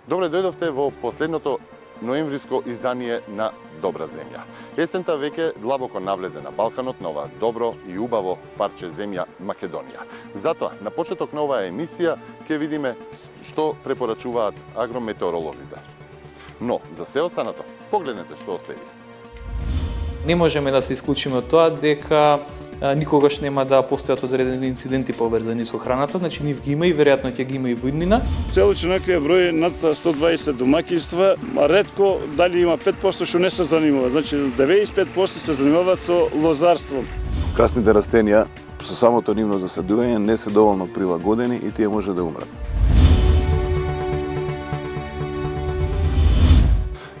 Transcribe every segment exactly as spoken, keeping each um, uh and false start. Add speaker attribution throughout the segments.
Speaker 1: Добре дојдовте во последното ноемвриско издание на Добра земја. Есента веќе длабоко навлезе на Балканот, на ова добро и убаво парче земја Македонија. Затоа, на почеток на оваа емисија ќе видиме што препорачуваат агрометеоролозите. Но, за се останато, погледнете што следи.
Speaker 2: Не можеме да се исклучиме од тоа дека никогаш нема да постојат одредени инциденти поврзани со храната, значи нив ги има и веројатно ќе ги има и во иднина.
Speaker 3: Целочнакиот број над сто дваесет домаќинства, ретко дали има пет проценти што не се занимаваат, значи деветдесет и пет проценти се занимаваат со лозарство.
Speaker 4: Красните растенија со самото нивно засадување не се доволно прилагодени и тие може да умрат.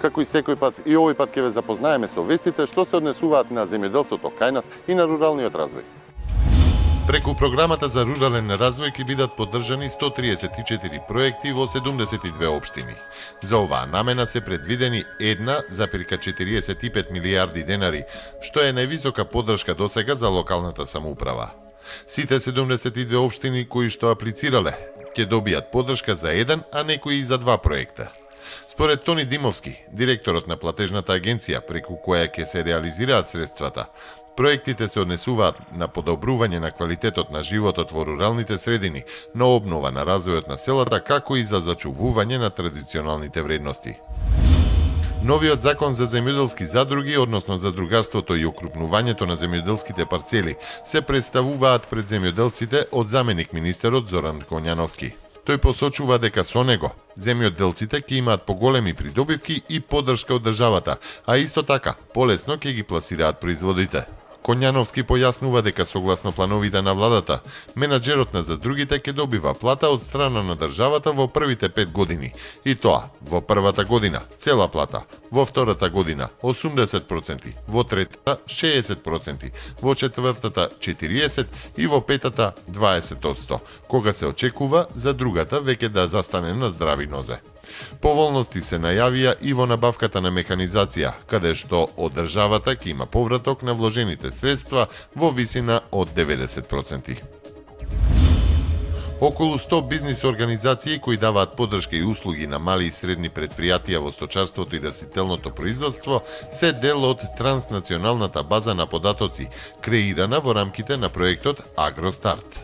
Speaker 1: Како и секој пат, и овој пат ќе ве запознаеме со вестите што се однесуваат на земјоделството кај нас и на руралниот развој.
Speaker 5: Преку програмата за рурален развој ќе бидат поддржани сто триесет и четири проекти во седумдесет и две општини. За оваа намена се предвидени една зарез четириесет и пет милијарди денари, што е највисока поддршка досега за локалната самоуправа. Сите седумдесет и две општини кои што аплицирале ќе добијат поддршка за еден, а некои и за два проекта. Според Тони Димовски, директорот на платежната агенција преку која ќе се реализираат средствата, проектите се однесуваат на подобрување на квалитетот на животот во руралните средини, на обнова на развојот на селата, како и за зачувување на традиционалните вредности. Новиот закон за земјоделски задруги, односно задругарството и окрупнувањето на земјоделските парцели, се представуваат пред земјоделците од заменик министерот Зоран Коњановски. Тој посочува дека со него земјоделците ќе имаат поголеми придобивки и поддршка од државата, а исто така полесно ќе ги пласираат производите. Коњановски појаснува дека согласно плановите на владата, менаџерот на задругите ќе добива плата од страна на државата во првите пет години, и тоа во првата година цела плата, во втората година осумдесет проценти, во третата шеесет проценти, во четвртата четириесет проценти и во петата дваесет проценти, кога се очекува за другата веќе да застане на здрави нозе. Поволности се најавија и во набавката на механизација, каде што од државата ќе има повраток на вложените средства во висина од деветдесет проценти. Околу сто бизнис организации кои даваат поддршка и услуги на мали и средни предпријатија во сточарството и растителното производство се дел од транснационалната база на податоци, креирана во рамките на проектот Агростарт.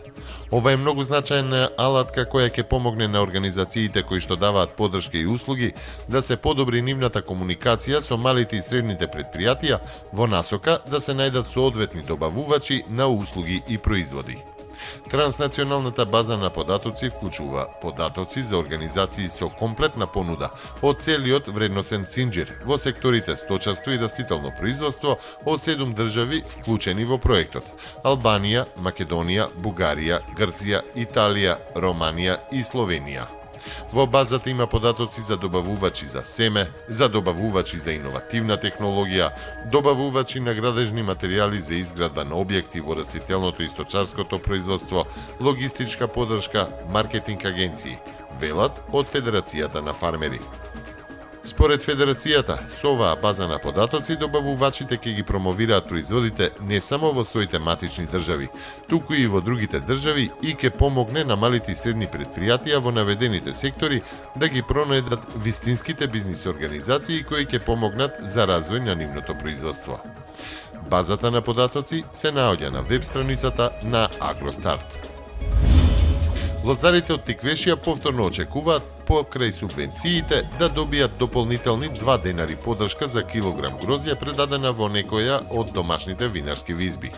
Speaker 5: Ова е многу значајна алатка која ќе помогне на организациите кои што даваат поддршка и услуги да се подобри нивната комуникација со малите и средните предпријатија во насока да се најдат соодветни добавувачи на услуги и производи. Транснационалната база на податоци вклучува податоци за организации со комплетна понуда од целиот вредносен цинџир во секторите сточарство и растително производство од седум држави вклучени во проектот: Албанија, Македонија, Бугарија, Грција, Италија, Романија и Словенија. Во базата има податоци за добавувачи за семе, за добавувачи за иновативна технологија, добавувачи на градежни материјали за изградба на објекти во растителното и сточарското производство, логистичка поддршка, маркетинг агенции, велат од Федерацијата на фармери. Според Федерацијата, со оваа база на податоци добавувачите ќе ги промовираат производите не само во своите матични држави, туку и во другите држави и ќе помогне на малите и средни предпријатија во наведените сектори да ги пронајдат вистинските бизнис организации кои ќе помогнат за развој на нивното производство. Базата на податоци се наоѓа на веб страницата на Агростарт. Лозарите од Тиквешија повторно очекуваат покрај субвенциите да добијат дополнителни два денари поддршка за килограм грозје предадена во некоја од домашните винарски визби.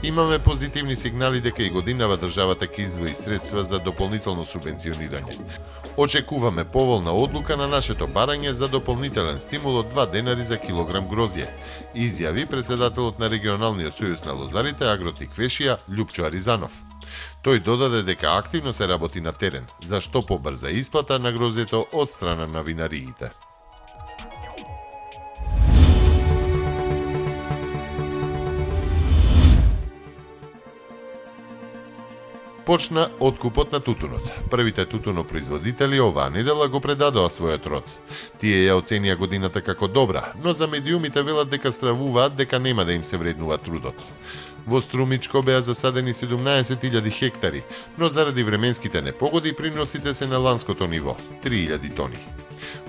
Speaker 5: Имаме позитивни сигнали дека и годинава државата ќе издвои средства за дополнително субвенционирање. Очекуваме поволна одлука на нашето барање за дополнителен стимул од два денари за килограм грозје, изјави председателот на регионалниот сојуз на лозарите Агротиквешија Љупчо Аризанов. Тој додаде дека активно се работи на терен за што побрза исплата на грозјето од страна на винариите. Почна откупот на тутунот. Првите тутунопроизводители оваа недела го предадоа својот род. Тие ја оценија годината како добра, но за медиумите велат дека стравуваат дека нема да им се вреднува трудот. Во Струмичко беа засадени седумнаесет илјади хектари, но заради временските непогоди приносите се на ланското ниво – три илјади тони.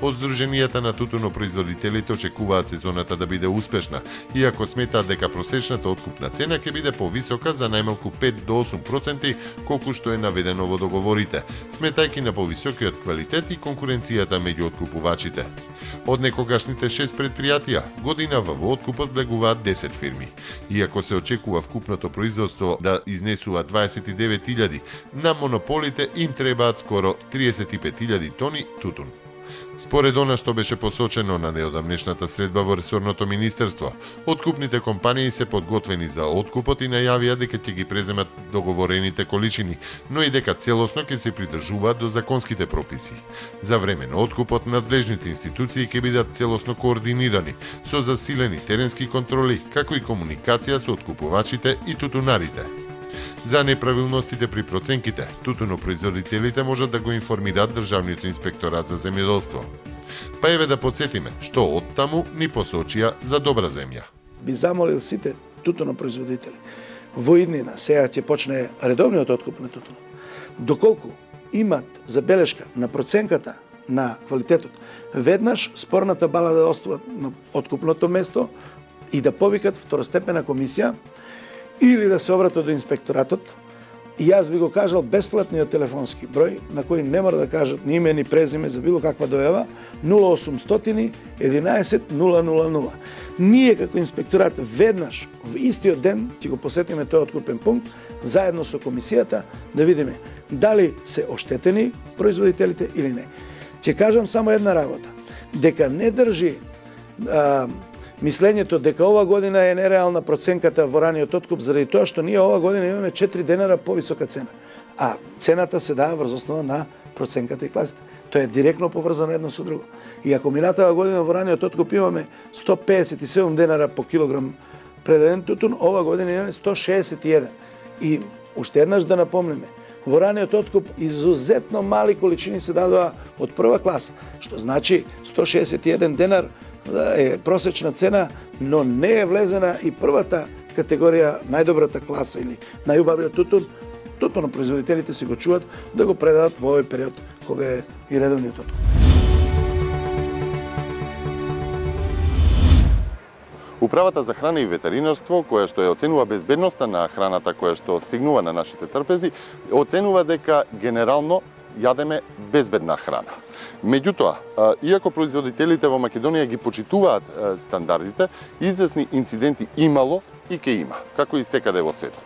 Speaker 5: Од Сдруженијата на тутунопроизводителите очекуваат сезоната да биде успешна, иако сметаат дека просечната откупна цена ќе биде повисока за најмалку пет до осум проценти, колку што е наведено во договорите, сметајќи на повисокиот квалитет и конкуренцијата меѓу откупувачите. Од некогашните шест предпријатија, годинава во откупот влегуваат десет фирми. Иако се очекува вкупното производство да изнесува дваесет и девет илјади, на монополите им требаат скоро триесет и пет илјади тони тутун. Според она што беше посочено на неодамнешната средба во ресорното министерство, откупните компании се подготвени за откупот и најавија дека ќе ги преземат договорените количини, но и дека целосно ќе се придржуваат до законските прописи. За време на откупот надлежните институции ќе бидат целосно координирани со засилени теренски контроли, како и комуникација со откупувачите и тутунарите. За неправилностите при проценките, тутунопроизводителите можат да го информираат Државниот инспекторат за земјоделство. Па еве да подсетиме што оттаму ни посочија за добра земја.
Speaker 6: Би замолил сите тутунопроизводители во иднина, сега ќе почне редовниот откуп на тутун, доколку имат забелешка на проценката на квалитетот, веднаш спорната бала да остават на откупното место и да повикат второстепена комисија или да се обратат до инспекторатот. И јас би го кажал бесплатниот телефонски број, на кој не мора да кажат ни име ни презиме за било каква дојава, нула осумстотини единаесет нула нула нула. Ние како инспекторат веднаш во истиот ден ќе го посетиме тој откупен пункт заедно со комисијата да видиме дали се оштетени производителите или не. Ќе кажам само една работа, дека не држи а, мислењето дека ова година е нереална проценката во раниот откуп заради тоа што ние ова година имаме четири денари повисока цена. А цената се дава врз основа на проценката и класите. Тоа е директно поврзано едно со друго. И ако минатава година во раниот откуп имаме сто педесет и седум денара по килограм предаден тутун, ова година имаме сто шеесет и еден. И уште еднаш да напомнеме, во раниот откуп изузетно мали количини се дадоа од прва класа, што значи сто шеесет и еден денар е просечна цена, но не е влезена и првата категорија, најдобрата класа или најубавиот тутун. Тутунопроизводителите си го чуват да го предадат во овој период кога е и редовниот откуп.
Speaker 1: Управата за храна и ветеринарство, која што ја оценува безбедноста на храната која што стигнува на нашите трпези, оценува дека генерално јадеме безбедна храна. Меѓутоа, иако производителите во Македонија ги почитуваат стандардите, известни инциденти имало и ке има, како и секаде во светот.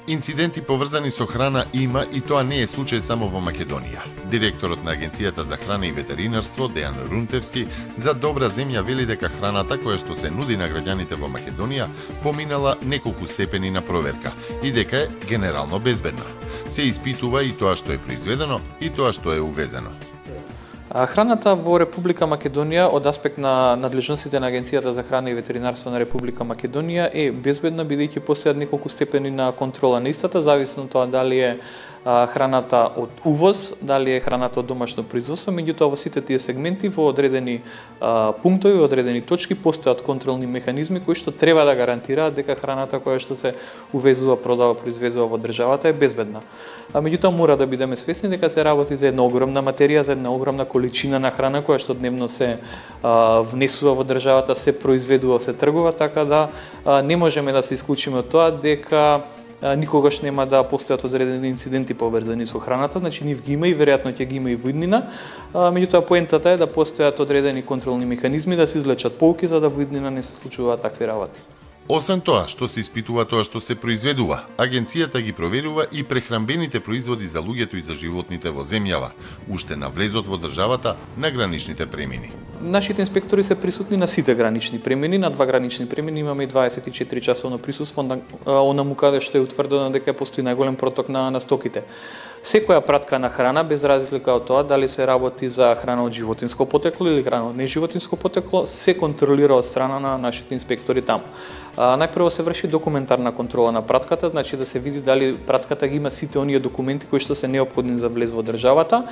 Speaker 5: Инциденти поврзани со храна има и тоа не е случај само во Македонија. Директорот на Агенцијата за храна и ветеринарство Дејан Рунтевски за добра земја вели дека храната која што се нуди на граѓаните во Македонија поминала неколку степени на проверка и дека е генерално безбедна. Се испитува и тоа што е произведено и тоа што е увезено.
Speaker 2: Храната во Република Македонија од аспект на надлежностите на Агенцијата за храна и ветеринарство на Република Македонија е безбедна, бидејќи постојат неколку степени на контрола на истата, зависно тоа дали е храната од увоз, дали е храната од домашно производство. Меѓутоа во сите тие сегменти во одредени а, пунктови, во одредени точки постојат контролни механизми кои што треба да гарантираат дека храната која што се увезува, продава, произведува во државата е безбедна. А меѓутоа мора да бидеме свесни дека се работи за една огромна материја, за една огромна количина на храна која што дневно се а, внесува во државата, се произведува, се тргува, така да а, не можеме да се исклучиме од тоа дека никогаш нема да постојат одредени инциденти поврзани со храната, значи нив ги има и веројатно ќе ги има и во иднина. Меѓутоа поентата е да постојат одредени контролни механизми, да се извлечат поуки за да во иднина не се случуваат такви работи.
Speaker 5: Освен тоа што се испитува тоа што се произведува, агенцијата ги проверува и прехранбените производи за луѓето и за животните во земјава, уште на влезот во државата на граничните премини.
Speaker 2: Нашите инспектори се присутни на сите гранични премини, на два гранични премини имаме и дваесет и четири часовно присуство, онаму каде што е утврдено дека постои најголем проток на, на стоките. Секоја пратка на храна, без разлика од тоа дали се работи за храна од животинско потекло или храна од неживотинско потекло, се контролира од страна на нашите инспектори таму. А, најпрво се врши документарна контрола на пратката, значи да се види дали пратката ги има сите оние документи кои што се неопходни за влез во државата.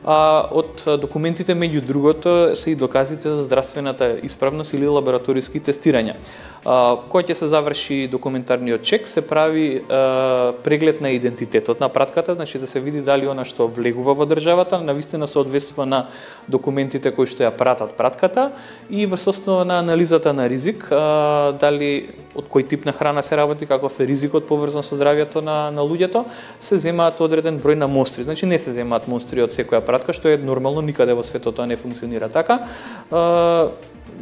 Speaker 2: А, од документите меѓу другото се и доказите за здравствената исправност или лабораториски тестирања. Кога ќе се заврши документарниот чек, се прави преглед на идентитетот на пратката, значи да се види дали она што влегува во државата навистина соодветства на документите кои што ја пратат пратката и врз основа на анализата на ризик, дали од кој тип на храна се работи, каков е ризикот поврзан со здравјето на, на луѓето, се земаат одреден број на монстри. Значи не се земаат монстри од секоја пратка, што е нормално, никаде во светот тоа не функционира така.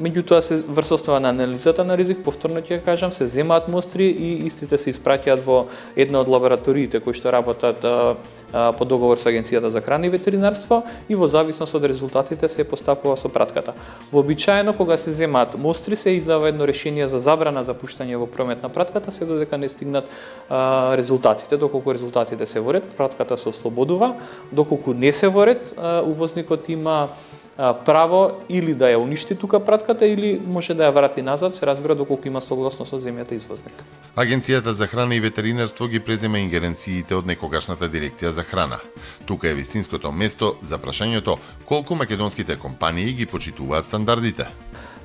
Speaker 2: Меѓутоа се врз основа на анализата на ризик, повторно ќе кажам, се земаат монстри и истите се испраќаат во една од лабораториите кои што работат а, а, по договор со Агенцијата за храна и ветеринарство и во зависност од резултатите се постапува со пратката. Вообичаено кога се земаат монстри се издава едно решение за забрана за пуштање во промет на пратката се додека не стигнат а, резултатите. Доколку резултатите се во ред, пратката се ослободува, доколку не се во ред, а, увозникот има право или да ја уништи тука пратката или може да ја врати назад, се разбира доколку има согласно со земјата извозник.
Speaker 5: Агенцијата за храна и ветеринарство ги презема ингеренциите од некогашната дирекција за храна. Тука е вистинското место за прашањето колку македонските компании ги почитуваат стандардите.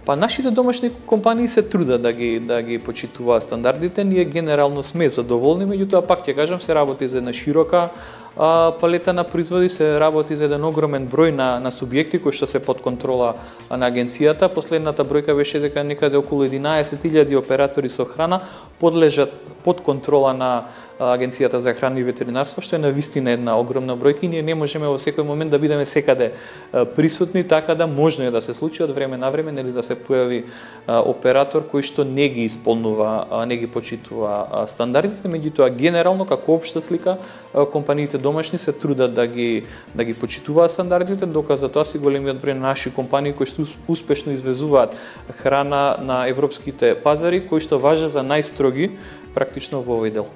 Speaker 2: Па нашите домашни компании се трудат да ги да ги почитуваат стандардите, ние генерално сме задоволни, меѓутоа пак ќе кажам се работи за една широка а, палета на производи, се работи за еден огромен број на на субјекти кои што се под контрола на агенцијата. Последната бројка беше дека некаде околу единаесет илјади оператори со храна подлежат под контрола на Агенцијата за храна и ветеринарство, што е навистина една огромна бројка и ние не можеме во секој момент да бидеме секаде присутни, така да можно е да се случи од време на време или да се појави оператор кој што не ги исполнува, не ги почитува стандардите, меѓутоа генерално како општа слика компаниите домашни се трудат да ги да ги почитуваат стандардите, доказ за тоа си големиот број на наши компании кои што успешно извезуваат храна на европските пазари, кои што важат за најстроги практично во овој дел.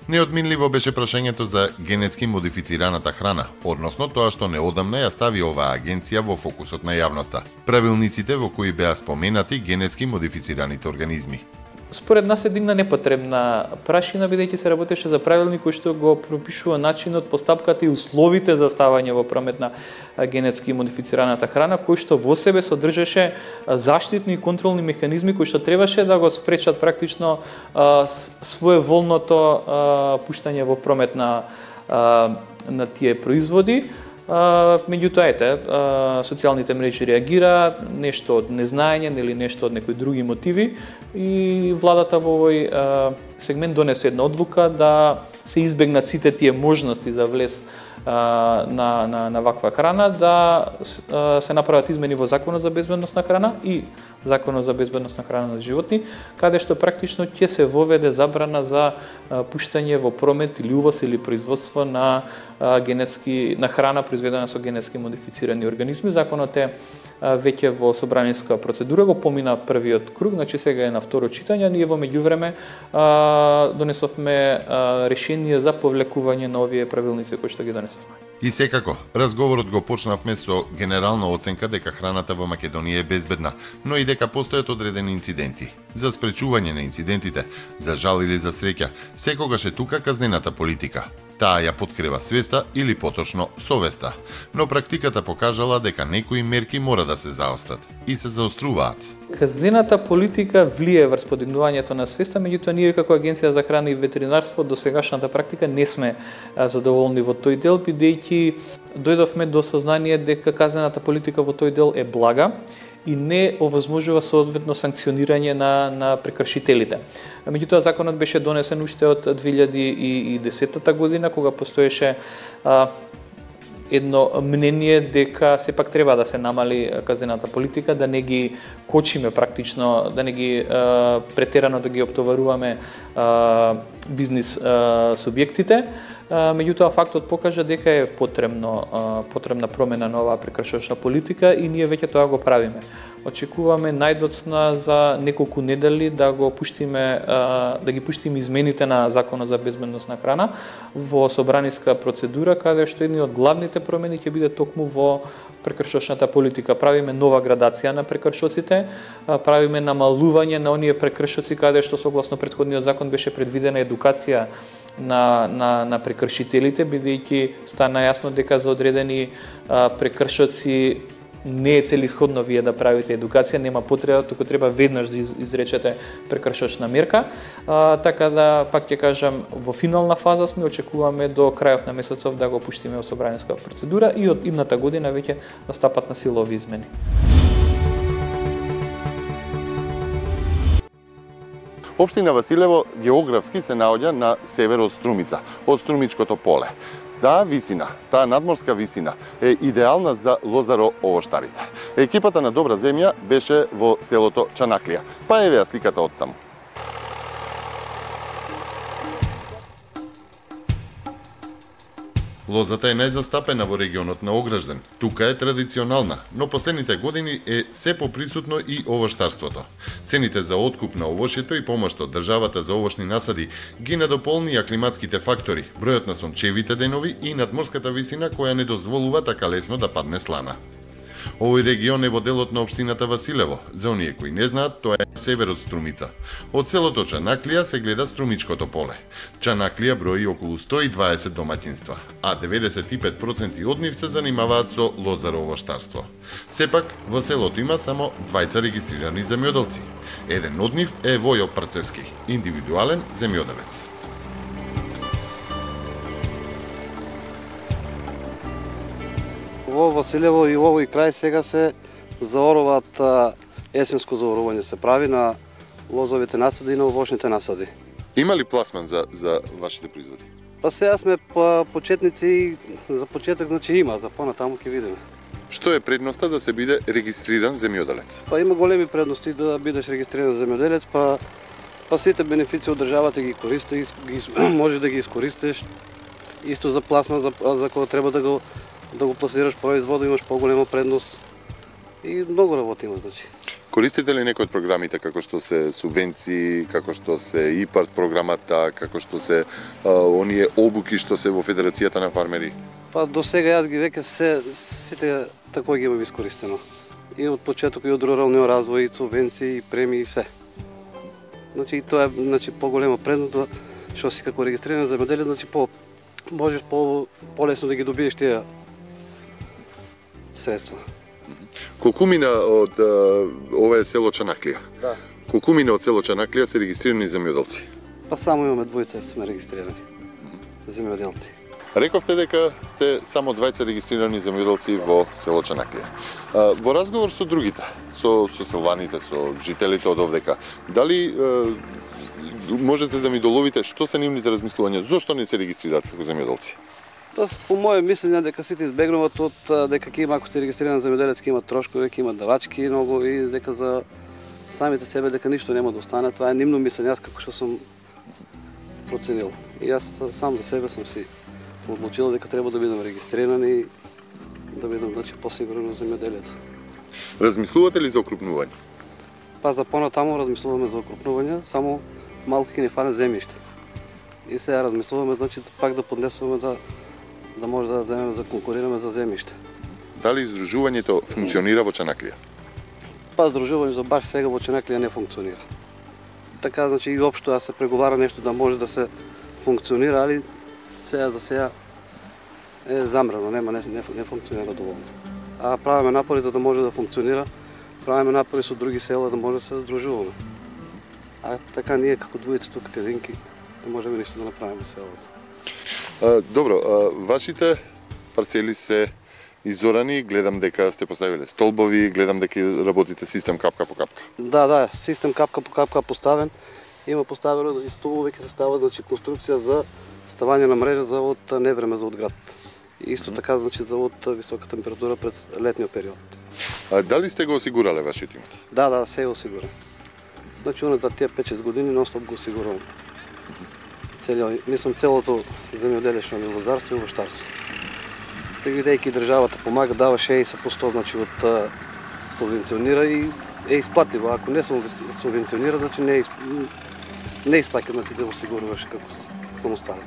Speaker 5: Неодминливо беше прашањето за генетски модифицираната храна, односно тоа што неодамна ја стави оваа агенција во фокусот на јавноста. Правилниците во кои беа споменати генетски модифицираните организми.
Speaker 2: Според нас се дигна непотребна прашина, бидејќи се работеше за правилник кој што го пропишува начинот, постапката и условите за ставање во промет на генетски модифицираната храна, кој што во себе содржеше заштитни и контролни механизми кои што требаше да го спречат практично а, своеволното а, пуштање во промет на а, на тие производи. Uh, меѓутоа, ете, uh, социјалните мрежи реагираат, нешто од незнаење или нешто од некои други мотиви и владата во овој uh, сегмент донесе една одлука да се избегнат сите тие можности за влез uh, на, на, на ваква храна, да uh, се направат измени во Законот за безбедност на храна и Законот за безбедност на храна на животни, каде што практично ќе се воведе забрана за uh, пуштање во промет или увоз или производство на uh, генетски на храна произведена со генетски модифицирани организми. Законот е uh, веќе во собраниска процедура, го помина првиот круг, значи сега е на второ читање, ние во меѓувреме uh, донесовме uh, решение за повлекување на овие правилници кои што ги донесовме.
Speaker 5: И секако, разговорот го почнавме со генерална оценка дека храната во Македонија е безбедна, но и дека постојат одредени инциденти. За спречување на инцидентите, за жал или за среќа, секогаш е тука казнената политика. Таа ја подкрива свеста или поточно совеста, но практиката покажала дека некои мерки мора да се заострат и се заоструваат.
Speaker 2: Казнената политика влие врз подигнувањето на свеста, меѓутоа ние како Агенција за храна и ветеринарство до сегашната практика не сме задоволни во тој дел, бидејќи дојдовме до сознание дека казнената политика во тој дел е блага и не овозможува соодветно санкционирање на на прекршителите. Меѓутоа законот беше донесен уште од две илјади и десета година, кога постоеше а, едно мнение дека сепак треба да се намали казнената политика, да не ги кочиме практично, да не ги а, претерано да ги оптоваруваме а, бизнис а, субјектите. Меѓутоа фактот покажа дека е потребно потребна промена на оваа прекршочна политика и ние веќе тоа го правиме. Очекуваме најдоцна за неколку недели да го пуштиме да ги пуштиме измените на Законот за безбедност на храна во собраниска процедура, каде што едни од главните промени ќе биде токму во прекршочната политика. Правиме нова градација на прекршоците, правиме намалување на оние прекршоци каде што согласно претходниот закон беше предвидена едукација на на на прекршителите, бидејќи стана јасно дека за одредени а, прекршоци не е целисходно вие да правите едукација, нема потреба, туку треба веднаш да изречете прекршочна мерка. А, така да, пак ќе кажам, во финална фаза сме, очекуваме до крајот на месецов да го пуштиме во собраниска процедура и од идната година веќе да стапат на сила овие измени.
Speaker 1: Општина Василево географски се наоѓа на север од Струмица, од Струмичкото поле. Таа висина, таа надморска висина е идеална за лозаро-овоштарите. Екипата на Добра земја беше во селото Чанаклија. Па еве ја сликата од таму.
Speaker 5: Лозата е најзастапена во регионот на Огражден. Тука е традиционална, но последните години е се поприсутно и овоштарството. Цените за откуп на овошјето и помош од државата за овошни насади ги надополнија климатските фактори, бројот на сончевите денови и надморската висина која не дозволува така лесно да падне слана. Овој регион е во делот на општината Василево. За оние кои не знаат, тоа е север од Струмица. Од селото Чанаклија се гледа Струмичкото поле. Чанаклија брои околу сто и дваесет домаќинства, а деветдесет и пет проценти од нив се занимаваат со лозаро-овоштарство. Сепак, во селото има само двајца регистрирани земјоделци. Еден од нив е Војо Парцевски, индивидуален земјоделец.
Speaker 7: Во Василево и овој крај сега се заоруваат, есенско заорување се прави на лозовите насади и на овошните насади.
Speaker 1: Има ли пласман за, за вашите производи?
Speaker 7: Па сега сме па, почетници и за почеток значи има, за понатаму ќе видиме.
Speaker 1: Што е предноста да се биде регистриран земјоделец?
Speaker 7: Па има големи предности да бидеш регистриран земјоделец, па па сите бенефиции од државата ги користиш, ги, може да ги искористиш. Исто за пласман, за, за кога треба да го да го пласираш производот, имаш поголема предност и многу работа има, значи.
Speaker 1: Користите ли некои од програмите како што се субвенции, како што се ИПАРТ програмата, како што се а, оние обуки што се во Федерацијата на фармери?
Speaker 7: Па до сега јас ги веќе се сите тако ги имам искористено. И од почеток и од руралниот развој, и субвенции, и премии и се. Значи тоа е значи поголема предност што си како регистриран земјоделец, значи по можеш по полесно да ги добиеш тие средства.
Speaker 1: Колку мина од ова е село Чанаклија?
Speaker 7: Да.
Speaker 1: Колку мина од село Чанаклија се регистрирани земјоделци?
Speaker 7: Па само имаме двојца сме регистрирани земјоделци.
Speaker 1: Рековте дека сте само двајца регистрирани земјоделци во село Чанаклија. Во разговор со другите, со со селваните, со жителите од овдека, дали можете да ми доловите што се нивните размислувања, зошто не се регистрираат како земјоделци?
Speaker 7: Тоа по моје мислење дека сите избегнуваат од дека ќе има, ако се регистриран земјоделец, ќе има трошкови, ќе има давачки многу и дека за самите себе дека ништо нема да остане. Тоа е нивно мислење, јас како што сум проценил. И јас сам за себе сум си одлучил дека треба да бидам регистриран и да бидам значи посигурен земјоделец.
Speaker 1: Размислувате ли за окрупнување?
Speaker 7: Па за понатаму размислуваме за окрупнување, само малку ќе ни фане земјиште. И сега размислуваме значи пак да поднесуваме да да може да земеме да конкурираме за земјиште.
Speaker 1: Дали издружувањето функционира во Чанаклија?
Speaker 7: Па издружување за баш сега во Чанаклија не функционира. Така значи и општо да се преговара нешто да може да се функционира, али сега за сега е замрано, нема не, не, не функционира доволно. А правиме напори за да може да функционира, правиме напори со други села да може да се задружуваме. А така ние како двојци тука кадинки не можеме ништо да направиме во селото.
Speaker 1: А, добро, а, вашите парцели се изорани, гледам дека сте поставиле столбови, гледам дека работите систем капка по капка.
Speaker 7: Да, да, систем капка по капка поставен. Има поставено и столбови ќе се става значи конструкција за ставање на мрежа за од невреме за од град. И исто така значи за од висока температура пред летниот период.
Speaker 1: А дали сте го осигурале вашиот имот?
Speaker 7: Да, да, се е осигурен. Значи за тие пет-шест години нон-стоп го осигурувам. Целиот, мислам целото земјоделишно и лозарство и овоштарство. Бидејќи државата помага, дава шеесет проценти значи од субвенционира и е исплатливо. Ако не субвенционира, значи не е не исплаќа значи да осигуруваш како самостојно.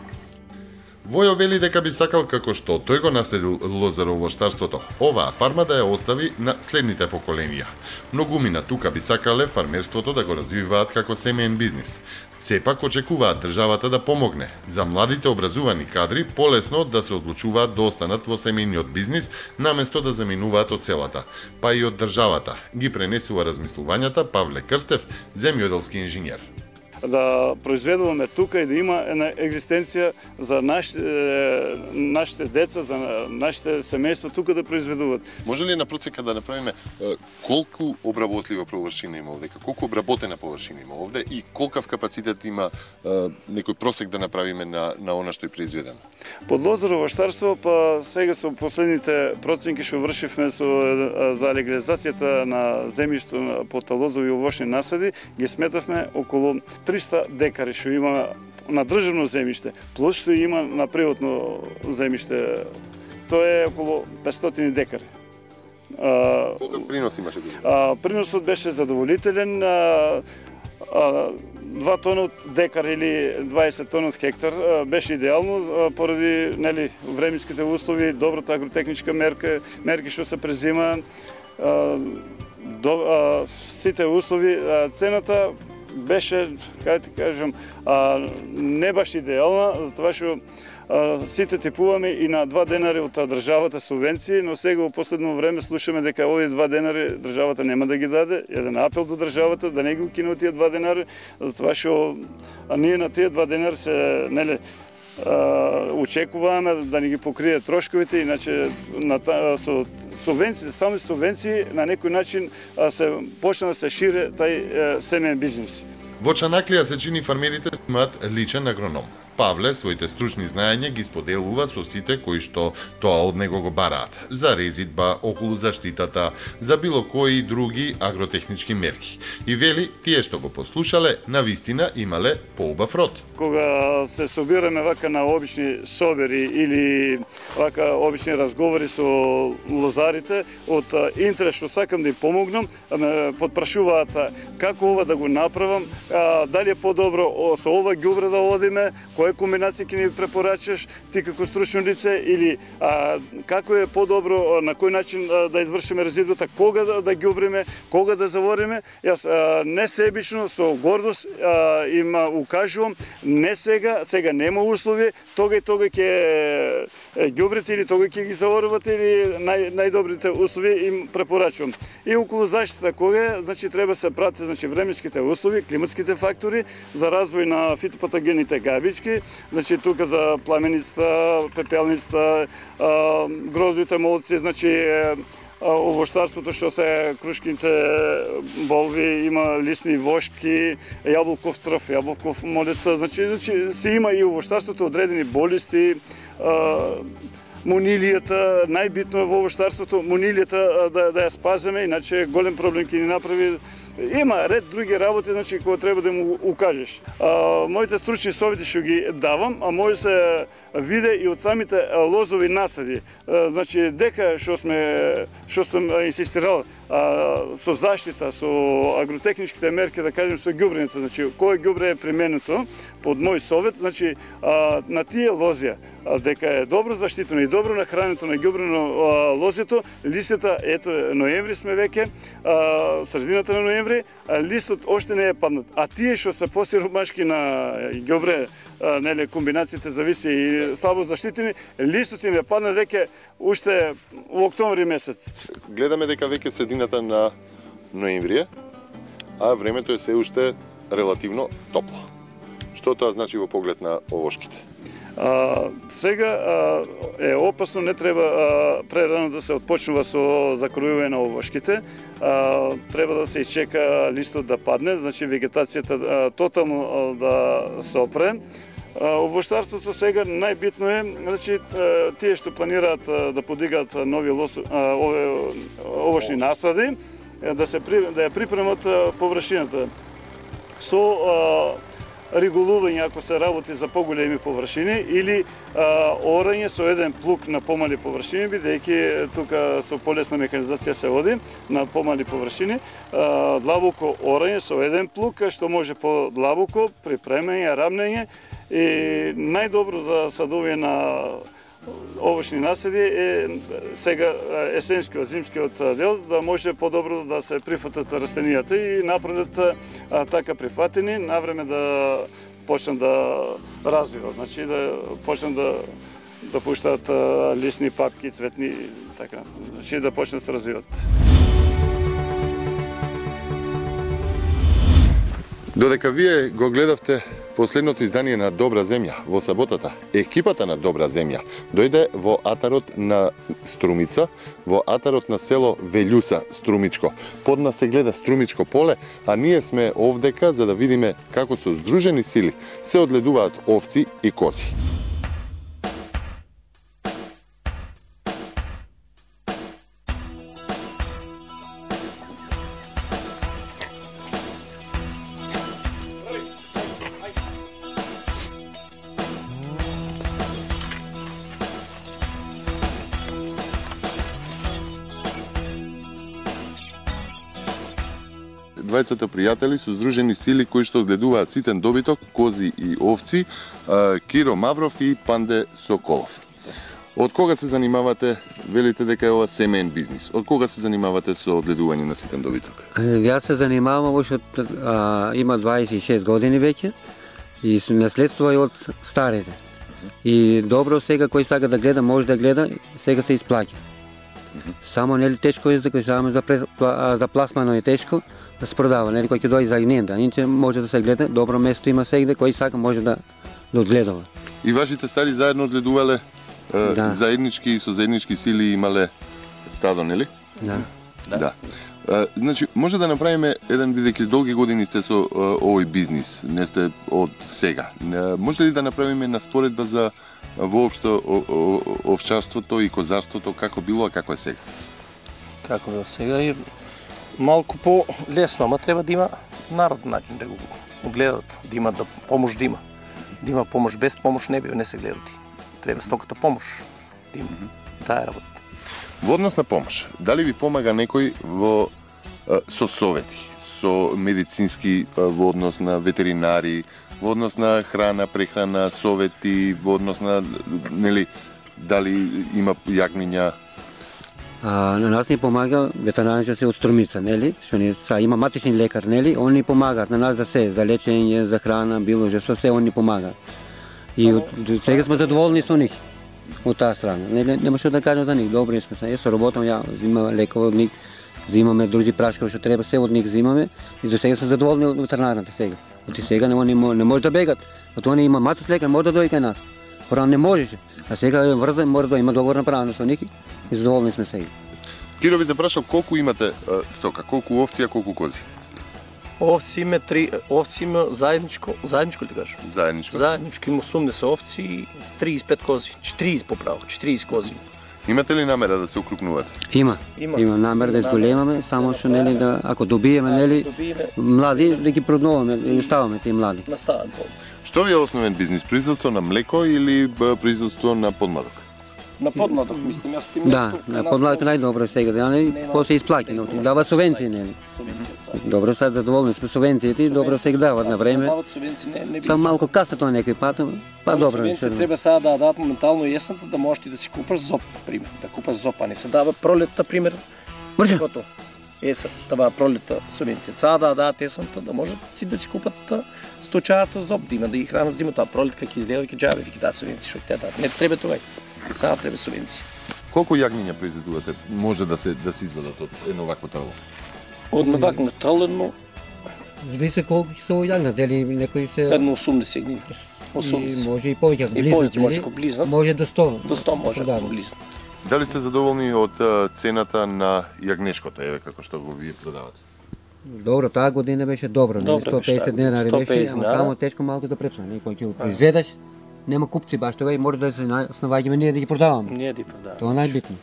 Speaker 5: Војо вели дека би сакал, како што тој го наследил лозаровоштарството, оваа фарма да ја остави на следните поколенија. Многумина тука би сакале фармерството да го развиваат како семеен бизнис. Сепак очекуваат државата да помогне за младите образувани кадри полесно да се одлучуваат да останат во семејниот бизнис наместо да заминуваат од селата, па и од државата, ги пренесува размислувањата Павле Крстев, земјоделски инженер.
Speaker 3: Да произведуваме тука и да има една екзистенција за нашите, нашите деца, за нашите семејства тука да произведуваат.
Speaker 1: Може ли на процека да направиме колку обработлива површина има овде, колку обработена површина има овде и колкав капацитет има некој просек да направиме на на она што е произведено?
Speaker 3: Под лозаровоштарство, па сега со последните проценки што вршивме со за легализацијата на земјишто под лозови овошни насади, ги сметавме околу триста декари што има на државно земјиште, плюс што има на приватно земјиште. Тоа е околу петстотини декари.
Speaker 1: Колкав принос имаше?
Speaker 3: Приносот беше задоволителен. А, а, два тона од декар или дваесет тона од хектар беше идеално поради нели временските услови, добрата агротехничка мерка, мерки што се презима, а, до, а, сите услови, а, цената беше, кај ти кажам, а, не баш идеална, затоа што а, сите типуваме и на два денари од државата субвенции, но сега во последно време слушаме дека овие два денари државата нема да ги даде. Еден апел до државата да не ги укине тие два денари, затоа што ние на тие два денари се нели очекуваме да ни ги покрие трошковите, иначе на та, со субвенции, само субвенции на некој начин се почна да се шире тај семеен бизнес.
Speaker 5: Во Чанаклија се чини фармерите имаат личен агроном. Павле своите стручни знаења ги споделува со сите кои што тоа од него го бараат, за резидба, околу заштитата, за било кои други агротехнички мерки. И вели, тие што го послушале, навистина имале поубав род.
Speaker 3: Кога се собираме вака на обични собери или вака обични разговори со лозарите, од интерес што сакам да им помогнам, ме подпрашуваат како ова да го направам, дали е подобро со ова ѓубре да одиме, која комбинација ќе ни препорачаш ти како стручно лице или а, како е подобро, на кој начин а, да извршиме резидбата, кога да, да ѓубриме, кога да завориме. Јас а, не себично со гордост а, им укажувам, не сега, сега нема услови, тога и тога ќе ѓубрите или тога ќе ги заворувате или нај, најдобрите услови им препорачувам. И околу заштита кога е, значи треба се прати значи временските услови, климатските фактори за развој на фитопатогените габички, значи тука за пламеницата, пепелницата, гроздовите молци, значи овоштарството што се крушките болви, има лисни вошки, јаболков стрф, јаболков молеца, значи, значи се има и овоштарството одредени болести, монилијата, најбитно е во овоштарството, монилијата да, да ја спаземе, иначе голем проблем ќе ни направи. Има ред други работи, значи, кои треба да му укажеш. А, моите стручни совети што ги давам, а може се виде и од самите лозови насади. А, значи, дека што сме, што сум инсистирал а, со заштита, со агротехничките мерки, да кажем, со ѓубрењето, значи, кој ѓубре е применето под мој совет, значи, а, на тие лозија, а, дека е добро заштитено и добро нахрането на ѓубрено лозето, листата, ето, ноември сме веќе, а, средината на ноември, листот оште не е паднат. А тие што се посиромашки на ѓубре, нели комбинациите зависи и слабо заштитени, листот им е паднат веќе уште во октомври месец.
Speaker 1: Гледаме дека веќе средината на ноември, а времето е се уште релативно топло. Што тоа значи во поглед на овошките?
Speaker 3: А, сега а, е опасно, не треба а, прерано да се отпочнува со закројување на овошките. А, треба да се ичека листот да падне, значи вегетацијата а, тотално а, да се опре. Овоштарството сега најбитно е, значи тие што планираат да подигаат нови лос, а, ове овошни насади, да се да ја припремат површината со а, регулување ако се работи за поголеми површини или а, орање со еден плуг на помали површини, бидејќи тука со полесна механизација се оди на помали површини, а, длабоко орање со еден плуг што може по длабоко припремање, рамнење И најдобро за садовие на овошни наследи е сега есенскиот, зимскиот дел, да може подобро да се прифатат растенијата и напредат така прифатени, навреме да почнат да развиват, значи да почнат да да пуштаат лисни папки, цветни, така, значи да почнат да се развиват.
Speaker 1: Додека вие го гледавте последното издание на Добра земја во саботата, екипата на Добра земја дојде во атарот на Струмица, во атарот на село Велјуса, Струмичко. Под нас се гледа Струмичко поле, а ние сме овдека за да видиме како со здружени сили се одледуваат овци и кози. Двајцата пријатели со здружени сили кои што одгледуваат ситен добиток, кози и овци, Киро Мавров и Панде Соколов. Од кога се занимавате, велите дека е ова семеен бизнис? Од кога се занимавате со одгледување на ситен добиток?
Speaker 8: Јас се занимавам уште од а, има дваесет и шест години веќе и наследство е од старите. И добро сега кој сака да гледа, може да гледа, сега се исплаќа. Само нели тешко е за кажаме за за пласмано е тешко да се продава, нели кој ќе дојде за гненда, иначе може да се гледа, добро место има сегде, кој сака може да да одгледува.
Speaker 1: И вашите стари заедно одгледувале, да. Заеднички и со заеднички сили имале стадо, нели?
Speaker 8: Да.
Speaker 1: Да. да. А, значи, може да направиме еден, бидејќи долги години сте со а, овој бизнис, не сте од сега. А, може ли да направиме наспоредба за воопшто овчарството и козарството, како било, а како е сега?
Speaker 9: Како било сега и малку по-лесно, ама треба да има народен начин да го гледат, да има да помош да има. Да има помош, без помош не би не се гледати. Треба стоката помош да има. Таа работа.
Speaker 1: Во однос на помош, дали ви помага некој во со совети, со медицински во однос на ветеринари, во однос на храна, прехрана, совети, во однос на нели дали има јагниња?
Speaker 8: А, на нас ни помага ветеринарите се од Струмица, нели? Што ни са има матични лекар, нели? Они помагаат на нас за се, за лечење, за храна, било што се они помагаат. И од сега сме задоволни со нив. Од таа страна. Нели нема што да кажам за нив. Добри сме. Ја со работам, ја зимам лекови од нив, зимаме други прашки што треба, се од нив зимаме и до сега сме задоволни од ветеринарната сега. Од сега не они не може да бегат. Од они има матич лекар, може да дојде кај нас. Порано не можеше. А сега е врзан, мора да има договор направено со нив и задоволни сме сега.
Speaker 1: Киро, ви те прашал колку имате а, стока, колку овци, а колку кози?
Speaker 9: Овци има три, овци има заедничко, заедничко ли кажеш?
Speaker 1: Заедничко.
Speaker 9: Заедничко има осумдесет овци и триесет и пет кози, четириесет поправо, четириесет кози.
Speaker 1: Имате ли намера да се укрупнувате?
Speaker 8: Има.
Speaker 9: Има,
Speaker 8: има намера да изголемаме, само што нели да ако добиеме нели млади да ги продноваме, да оставаме тие млади.
Speaker 9: Наставаме по.
Speaker 1: Што ви е основен бизнис? Производство на млеко или производство на подмладок?
Speaker 9: На подмладок мислам, јас ти
Speaker 8: Да, на подмладок најдобро сега, да не после исплаќа, дават субвенции нели. Добро, сад задоволни сме субвенциите и добро се дават на време.
Speaker 9: Дават субвенции, не не би.
Speaker 8: Само малку каса тоа некој пат, па добро.
Speaker 9: Субвенција треба сега да дадат моментално есента да можеш ти да си купаш зоб, пример, да купаш зоб, а не се дава пролетта пример.
Speaker 8: Може.
Speaker 9: Гото. Есен, това пролетта субвенција. Сега да дадат есента да можат си да си купат сточарото зоб, да има да ги хранат зимата, таа пролетка ќе излева ќе џабе, ќе дадат субвенција, што ќе дадат. Не треба тоа. Сега треба субвенција.
Speaker 1: Колку јагниња произведувате може да се да се извадат од едно вакво трало?
Speaker 9: Од вакво трало едно
Speaker 8: Зависи колку ќе се ојагнат, дали некои се
Speaker 9: едно осумдесет дни. осумдесет.
Speaker 8: И може и повеќе,
Speaker 9: и повеќе може ако близнат.
Speaker 8: Може до сто.
Speaker 9: До сто може да близнат.
Speaker 1: Дали сте задоволни од цената на јагнешкото, еве како што го вие продавате?
Speaker 8: Добро, таа година беше добро, не сто и песет денари беше, ама само тешко малку за препсна, некој ќе го произведеш, нема купци баш тога и мора да се основаѓаме ние да ги продаваме.
Speaker 9: Ние да ги продаваме.
Speaker 8: Тоа најбитно.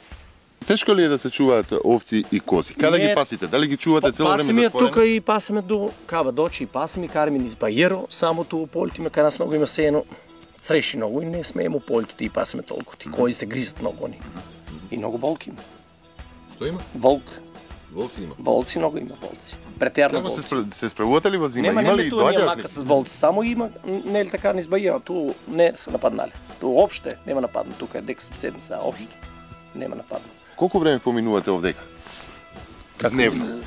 Speaker 1: Тешко ли е да се чуваат овци и кози? Каде ги пасите? Дали ги чувате цело време затворени?
Speaker 9: Пасиме тука и пасиме до кава дочи и пасиме караме низ Бајеро, само ту полите има кај нас многу има сеено, среши многу и не смееме полите и пасиме толку. Ти кои сте гризат многу они. И многу волки има.
Speaker 1: Што има?
Speaker 9: Волк.
Speaker 1: Волци има.
Speaker 9: Волци много има волци. Претерно
Speaker 1: Како
Speaker 9: волци.
Speaker 1: се, спра- се справувате ли во зима?
Speaker 9: Нема,
Speaker 1: Има
Speaker 9: нема
Speaker 1: ли
Speaker 9: туа ние
Speaker 1: доаѓаат
Speaker 9: макар
Speaker 1: ли?
Speaker 9: с волци, само има, не е ли така низ Баија, ту не се нападнале. Ту опште нема нападно, тука е дека седмица, општо нема нападно.
Speaker 1: Колку време поминувате овдека? Дневно.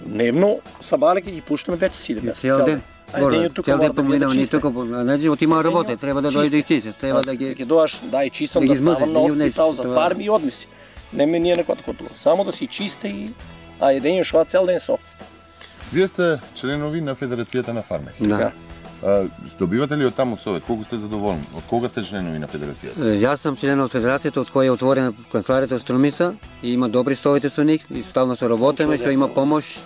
Speaker 9: Дневно, сабале ќе ги пуштаме веќе седем месеци.
Speaker 8: Цел ден.
Speaker 9: Ајде, тука
Speaker 8: Цел
Speaker 9: мора
Speaker 8: ден
Speaker 9: да биде
Speaker 8: поминава, ни
Speaker 9: чисте.
Speaker 8: тука, значи отима работа, треба да дојде и чисте, треба да ги
Speaker 9: Ќе доаш, да и чистом
Speaker 8: да
Speaker 9: да
Speaker 8: ги измрзе,
Speaker 9: ставам
Speaker 8: да
Speaker 9: на
Speaker 8: ги
Speaker 9: ости
Speaker 8: унесе,
Speaker 9: пауза,
Speaker 8: тоа.
Speaker 9: фарми и одмиси. Не ме ние некој такова. Само да си чисте и а едење шо цел ден со овците.
Speaker 1: Вие сте членови на Федерацијата на фармери.
Speaker 8: Да.
Speaker 1: А, добивате ли од таму совет? Колку сте задоволни? Од кога сте членови на Федерацијата?
Speaker 8: Е, Јас сум член од федерацијата од која е отворена канцеларијата од Струмица и има добри совети со нив и стално се работиме, што има помош.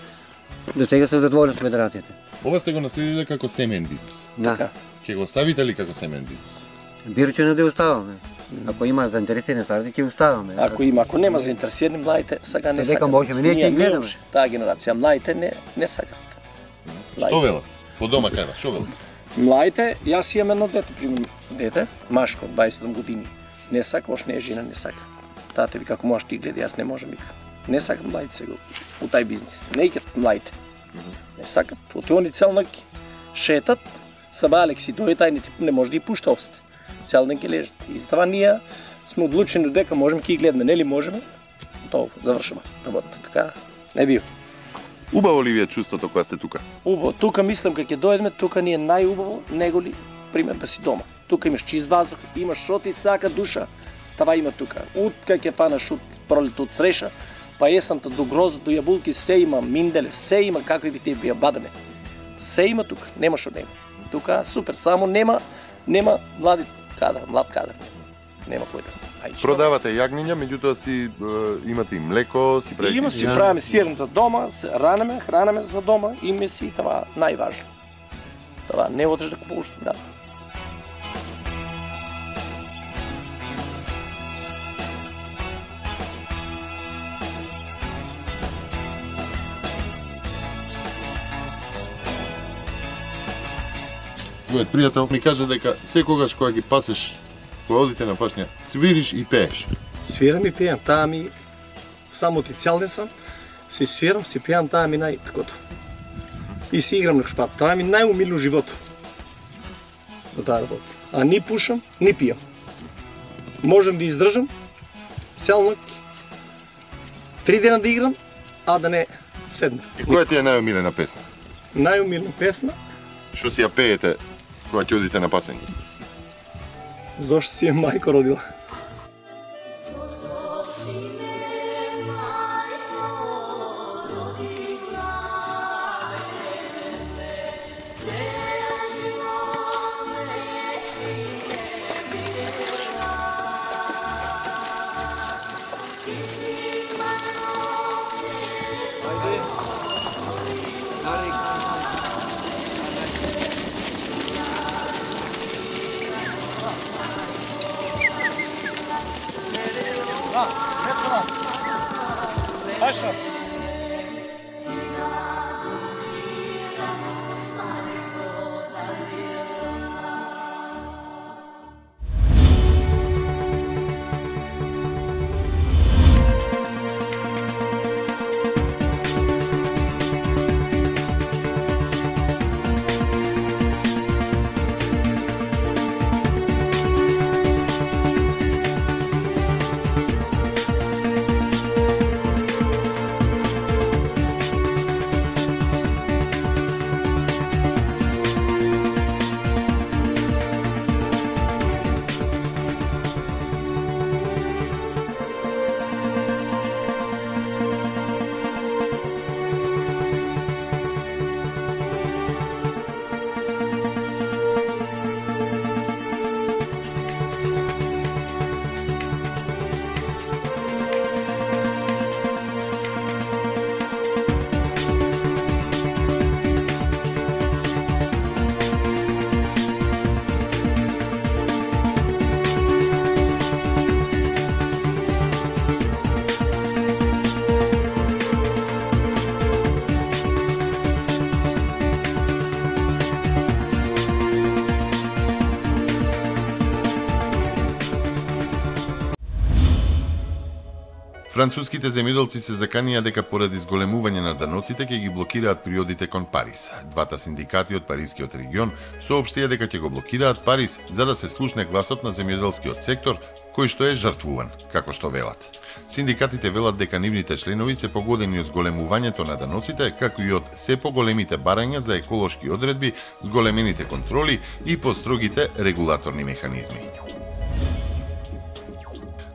Speaker 8: До сега се задоволен со федерацијата.
Speaker 1: Ова сте го наследиле како семеен бизнис.
Speaker 8: Да.
Speaker 1: Ќе го оставите ли како семеен бизнис?
Speaker 8: Бирче да оставаме. Ако има заинтересирани старци, ќе оставаме.
Speaker 9: Ако има, ако нема заинтересирани младите, сега не
Speaker 8: Дека
Speaker 9: сакат.
Speaker 8: можеме, ние ќе гледаме.
Speaker 9: уште, таа генерација, младите не не сакат.
Speaker 1: Што велат? По дома кај вас, што велат?
Speaker 9: Младите, јас имам едно дете, примерно дете, машко, дваесет и седум години. Не сака, ош не е жена, не сака. Тате ви како можеш ти гледа, јас не можам вика. Не сакат младите сега у тај бизнис. Не икат младите. Не сакат. Оти они цел ноќ шетат, сабалек си дојде тај не, не може да ги пушта овците. Цел ден ќе лежат. И затоа ние сме одлучени дека можеме ќе ги гледаме, нели можеме? Тоа завршува работата. Така не бива.
Speaker 1: Убаво ли ви е чувството кога сте тука?
Speaker 9: Убаво. Тука мислам кога ќе дојдеме, тука ни е најубаво него ли пример да си дома. Тука имаш чист воздух, имаш шо ти сака душа. Това има тука. Од кога ќе панаш од пролет од среша, па есамта до гроза, до јабулки, се има, минделе, се има какви ви те бија бадаме. Се има тука, нема шо нема. Тука супер, само нема нема млади кадар, млад кадар. Нема кој да. Ајде.
Speaker 1: Продавате јагниња, меѓутоа си е, имате и млеко, си правите.
Speaker 9: Има си правиме сирен за дома, се ранеме, хранеме за дома, име си това најважно. Това не одиш да купуваш град.
Speaker 1: Твојот пријател ми кажа дека секогаш кога ги пасеш, кога одите на пашња, свириш и пееш.
Speaker 9: Свирам и пијам, таа ми само ти цел ден сам, си свирам, си пијам, таа ми најтакото. И си играм на шпат, таа ми најумилно живото. На таа работа. А ни пушам, ни пијам. Можем да издржам цел ноќ, три дена да играм, а да не седна.
Speaker 1: И која ти е најомилена песна?
Speaker 9: Најумилна песна,
Speaker 1: Што си ја пеете кога ќе одите на пасење?
Speaker 9: зошто си е мајко родила.
Speaker 5: Француските земјоделци се заканија дека поради зголемување на даноците ќе ги блокираат приодите кон Париз. Двата синдикати од парискиот регион соопштија дека ќе го блокираат Париз за да се слушне гласот на земјоделскиот сектор, кој што е жртвуван, како што велат. Синдикатите велат дека нивните членови се погодени од зголемувањето на даноците, како и од се поголемите барања за еколошки одредби, зголемените контроли и построгите регулаторни механизми.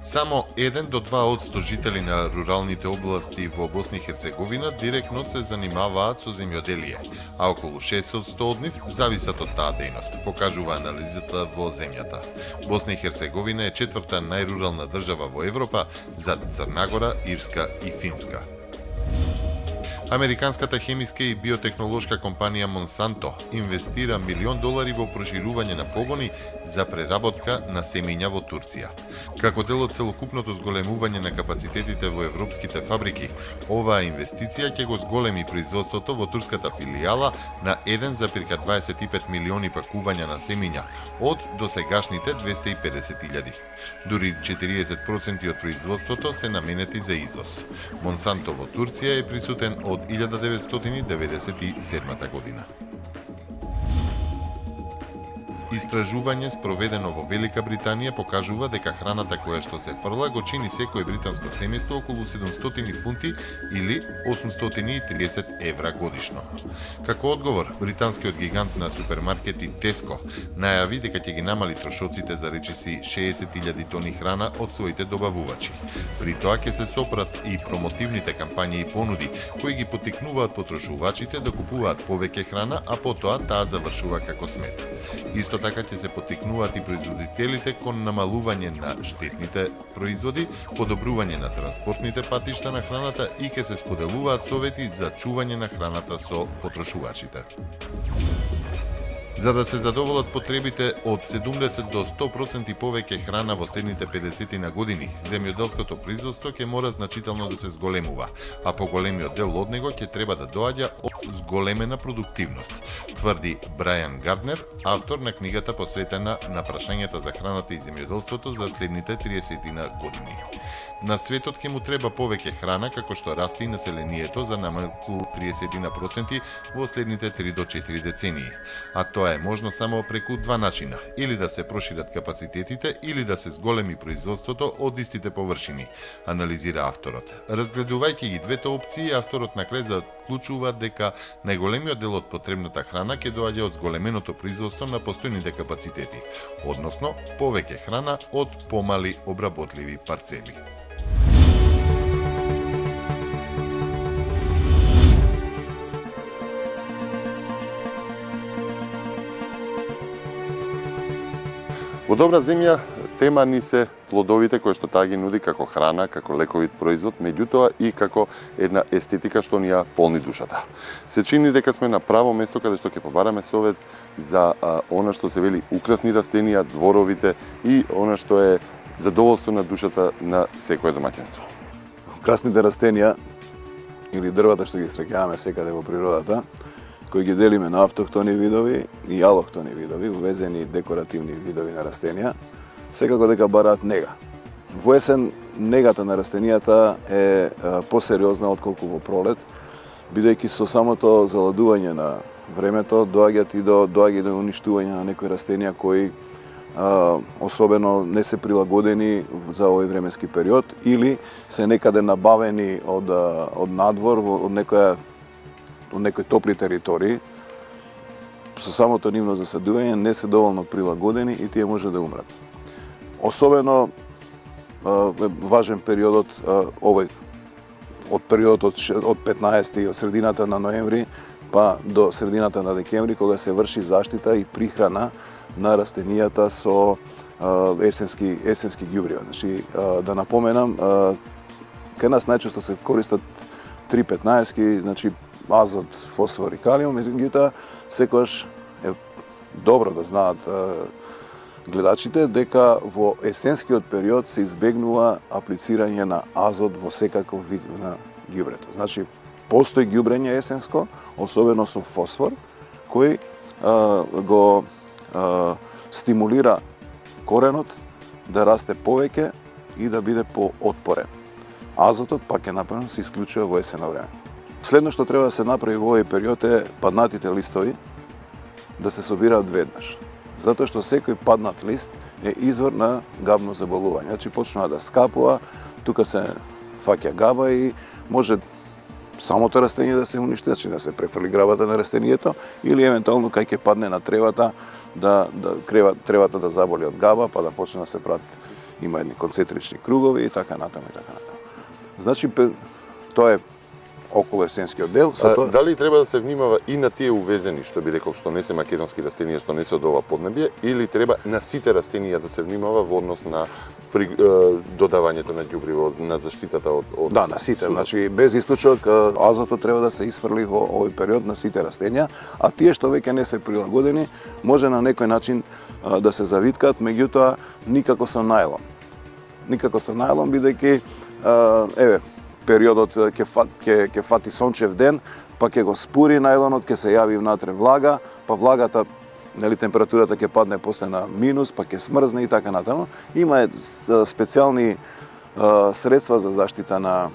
Speaker 5: Само еден до два одсто жители на руралните области во Босна и Херцеговина директно се занимаваат со земјоделие, а околу шест одсто од нив зависат од таа дејност, покажува анализата во земјата. Босна и Херцеговина е четврта најрурална држава во Европа, зад Црна Гора, Ирска и Финска. Американската хемиска и биотехнолошка компанија Монсанто инвестира милион долари во проширување на погони за преработка на семења во Турција. Како дел од целокупното зголемување на капацитетите во европските фабрики, оваа инвестиција ќе го зголеми производството во турската филијала на еден зарез дваесет и пет милиони пакувања на семења од досегашните двесте и педесет илјади. Дури четириесет проценти од производството се наменети за извоз. Монсанто во Турција е присутен од илјада деветстотини деветдесет и седма година. Истражување спроведено во Велика Британија покажува дека храната која што се фрла го чини секој британско семејство околу седумстотини фунти или осумстотини и триесет евра годишно. Како одговор, британскиот гигант на супермаркети Tesco најави дека ќе ги намали трошоците за речиси шеесет илјади тони храна од своите добавувачи. При тоа ќе се сопрат и промотивните кампањи и понуди кои ги поттикнуваат потрошувачите да купуваат повеќе храна, а потоа таа завршува како смет. Исто така ќе се поттикнуваат и производителите кон намалување на штетните производи, подобрување на транспортните патишта на храната и ќе се споделуваат совети за чување на храната со потрошувачите. За да се задоволат потребите од седумдесет до сто проценти повеќе храна во следните педесет на години, земјоделското производство ќе мора значително да се зголемува, а поголемиот дел од него ќе треба да доаѓа од зголемена продуктивност, тврди Брајан Гарднер, автор на книгата посветена на прашањата за храната и земјоделството за следните триесет години. На светот ќе му треба повеќе храна како што расте и населението за намалку триесет проценти во следните три до четири децении, а тоа е можно само преку два начина, или да се прошират капацитетите, или да се зголеми производството од истите површини, анализира авторот. Разгледувајќи ги двете опции, авторот на крај заклучува дека најголемиот дел од потребната храна ќе доаѓа од зголеменото производство на постојните капацитети, односно повеќе храна од помали обработливи парцели.
Speaker 1: Во добра земја тема ни се плодовите кои што таа ги нуди како храна, како лековит производ, меѓутоа и како една естетика што ни ја полни душата. Се чини дека сме на право место каде што ќе побараме совет за а, она што се вели украсни растенија, дворовите и она што е задоволство на душата на секое домаќинство.
Speaker 4: Украсните растенија или дрвата што ги среќаваме секаде во природата, кои ги делиме на автохтони видови и алохтони видови, увезени декоративни видови на растенија, секако дека бараат нега. Во есен негата на растенијата е посериозна отколку во пролет, бидејќи со самото заладување на времето доаѓаат и до доаѓа и до уништување на некои растенија кои а, особено не се прилагодени за овој временски период или се некаде набавени од од надвор од некоја од некои топли територии, со самото нивно засадување не се доволно прилагодени и тие може да умрат. Особено е важен периодот овој од периодот од петнаесети од средината на ноември па до средината на декември, кога се врши заштита и прихрана на растенијата со есенски есенски ѓубрива. Значи да напоменам, кај нас најчесто се користат три петнаесетки, значи азот, фосфор и калиум, меѓутоа секогаш е добро да знаат гледачите дека во есенскиот период се избегнува аплицирање на азот во секаков вид на ѓубрето. Значи, постои ѓубрење есенско, особено со фосфор, кој а, го а, стимулира коренот да расте повеќе и да биде поотпорен. Азотот пак е направен се исклучува во есенно време. Следно што треба да се направи во овој период е паднатите листови да се собираат веднаш. Затоа што секој паднат лист е извор на габно заболување. Значи почнува да скапува, тука се фаќа габа и може самото растение да се уништи, значи да се префрли грабата на растението или евентуално кај ќе падне на тревата да да крева тревата да заболи од габа, па да почне да се прат има едни концентрични кругови и така натаму и така натаму. Значи тоа е околу есенскиот дел.
Speaker 1: А, тоа... Дали треба да се внимава и на тие увезени, што би рекол, што не се македонски растенија, што не се од ова поднебје, или треба на сите растенија да се внимава во однос на при, е, додавањето на ѓубриво, на заштитата од, од...
Speaker 4: Да, на сите. Судот. Значи, без исклучок, азотот треба да се исфрли во овој период на сите растенија, а тие што веќе не се прилагодени, може на некој начин а, да се завиткаат, меѓутоа никако со најлон. Никако со најлон, бидејќи, еве, периодот ќе ќе ќе фати сончев ден, па ќе го спури најлонот, ќе се јави внатре влага, па влагата, нели температурата ќе падне после на минус, па ќе смрзне и така натаму. Има специјални средства за заштита на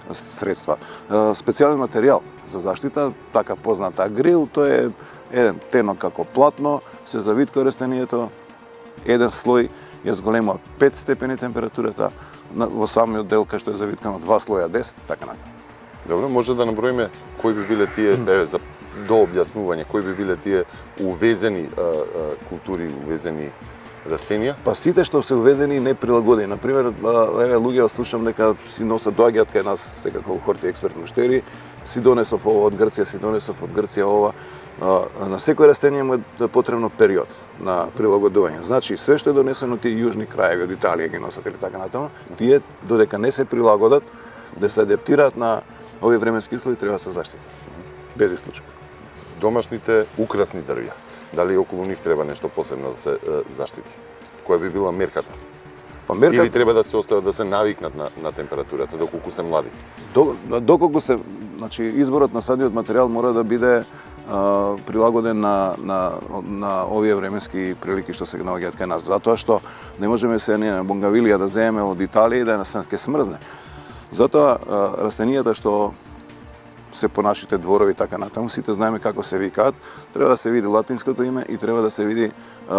Speaker 4: средства, специјален материјал за заштита, така позната грил, тоа е еден тенок како платно, се завитка растението, еден слој ја зголемува пет степени температурата, во самиот дел кај што е завиткано два слоја десет, така натаму.
Speaker 1: Добро, може да наброиме кои би биле тие, еве, за до објаснување, кои би биле тие увезени а, а, култури, увезени растенија?
Speaker 4: Па сите што се увезени не прилагодени. Например, еве луѓе слушам дека си носат доаѓаат кај нас секако хорти експерт муштери, си донесов ова од Грција, си донесов од Грција ова. На секој растение му е потребно период на прилагодување. Значи, све што е донесено тие јужни краеви од Италија ги носат или така натаму, тие додека не се прилагодат, да се адаптираат на овие временски услови, треба да се заштитат. Без исклучок.
Speaker 1: Домашните украсни дрвја, дали околу нив треба нешто посебно да се е, заштити? Која би била мерката?
Speaker 4: Па мерката...
Speaker 1: Или треба да се остават да се навикнат на, на температурата доколку се млади?
Speaker 4: До, доколку се, значи изборот на садниот материјал мора да биде а, прилагоден на, на, на овие временски прилики што се наоѓаат кај нас. Затоа што не можеме се не на бунгавилија да земеме од Италија и да нас ке смрзне. Затоа а, растенијата што се по нашите дворови така натаму, сите знаеме како се викаат, треба да се види латинското име и треба да се види а,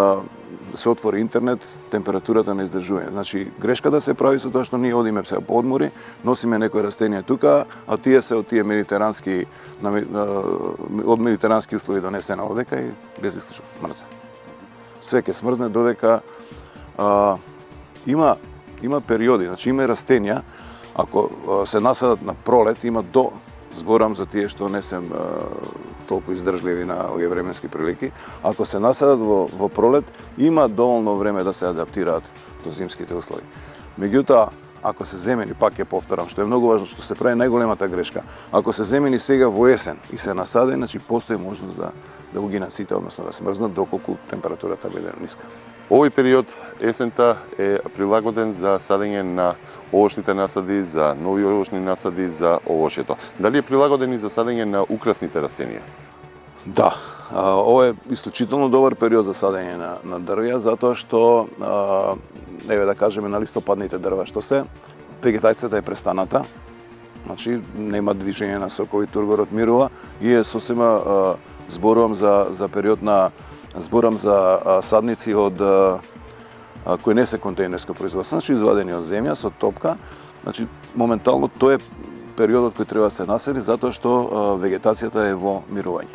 Speaker 4: да се отвори интернет температурата на издржување. Значи грешка да се прави со тоа што ние одиме сега по одмори, носиме некои растенија тука, а тие се од тие медитерански од медитерански услови донесена одека и без исклучок мрзе. Све ќе смрзне додека а, има има периоди, значи има растенија ако а, се насадат на пролет, има до зборам за тие што не се толку издржливи на овие временски прилики. Ако се насадат во, во пролет, има доволно време да се адаптираат до зимските услови. Меѓутоа, ако се земени, пак ќе повторам, што е многу важно, што се прави најголемата грешка, ако се земени сега во есен и се насадени, значи постои можност да да го гинат сите, односно да смрзнат доколку температурата биде ниска.
Speaker 1: Овој период, есента, е прилагоден за садење на овошните насади, за нови овошни насади, за овошјето. Дали е прилагоден и за садење на украсните растенија?
Speaker 4: Да, ова е исклучително добар период за садење на, на дрвја, затоа што, еве да кажеме, на листопадните дрва што се, вегетацијата е престаната, значи нема движење на сокови, тургорот мирува и е сосема зборувам за, за период на зборам за а, садници од а, кои не се контейнерско производство, значи извадени од земја со топка, значи моментално тоа е периодот кој треба да се наседи затоа што а, вегетацијата е во мирување.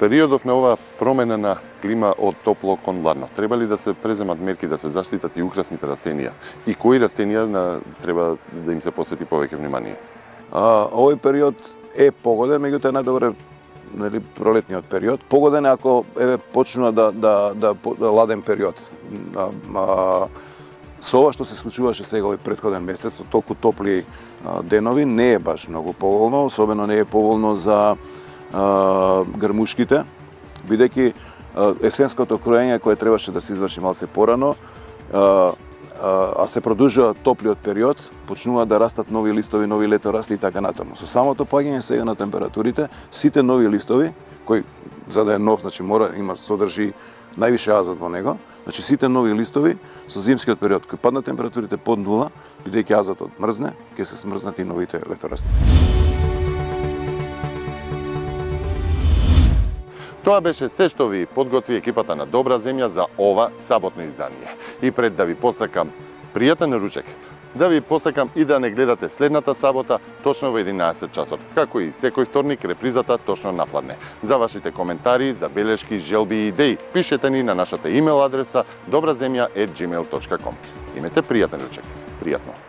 Speaker 1: Периодов на ова промена на клима од топло кон ладно, треба ли да се преземат мерки да се заштитат и украсните растенија? И кои растенија на, треба да им се посвети повеќе внимание?
Speaker 4: А, овој период е погоден, меѓутоа е најдобре нели пролетниот период. Погоден е ако еве почнува да да да, да ладен период. А, а, со ова што се случуваше сега овој претходен месец со толку топли а, денови не е баш многу поволно, особено не е поволно за а, грмушките, бидејќи есенското кроење кое требаше да се изврши малце порано, а, а се продолжува топлиот период, почнува да растат нови листови, нови леторасли и така натаму. Со самото паѓање сега на температурите, сите нови листови, кои за да е нов, значи мора има содржи највише азот во него, Значи сите нови листови со зимскиот период кој паднат температурите под нула, бидејќи азотот мрзне, ќе се смрзнат и новите леторасти.
Speaker 1: Тоа беше се што ви подготви екипата на Добра земја за ова саботно издание. И пред да ви посакам пријатен ручек, да ви посакам и да не гледате следната сабота точно во единаесет часот, како и секој вторник репризата точно напладне. За вашите коментари, забелешки, желби и идеи, пишете ни на нашата имейл адреса добраземја ет джимейл точка ком. Имете пријатен ручек. Пријатно.